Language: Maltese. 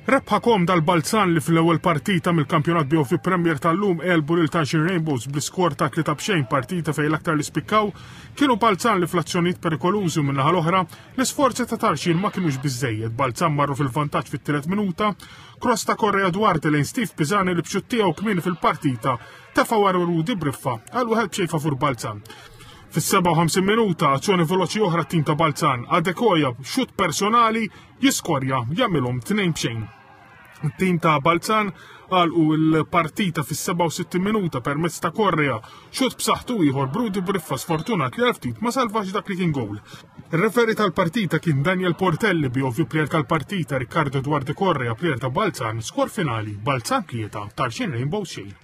Rebħa komda għal Balzan li fl-ewwel partita mill-Kampjonat BOV Premier tal-lum għelbu lil Tarxien Rainbows bl-iskor ta' 3-0, partita fejn l-aktar li spikkaw kienu Balzan li fl-azzjonijiet perikolużi u min-naħa l-oħra l-isforzi ta' Tarxien ma kinux biżżejjed. Balzan marru fil-vantaġġ fit-tielet minuta, cross ta' Correa Duarte lejn Steve Pisani li b'xutt tiegħu kmieni fil-partita tefa' wara Rudi Briffa għal wieħed b'xejn favur Balzan. Fis-57 minuta, azzjoni veloċi oħra t-tim ta' Balzan, Adekoya b'xutt personali jiskorja jagħmilhom 2-0. It-tim ta' Balzan għalqu l-partita fis-67 minuta permezz ta' Correa, xut b'saħħtu ieħor Brudi Briffa sfortunat li għal ftit ma salvax dak li kien gowl. Ir-referi tal-partita kien Daniel Portelli bi ovvju plejer tal-partita Riccardo Duarte Correa plejer ta' Balzan, skor finali Balzan 3 Tarxien Rainbow xejn.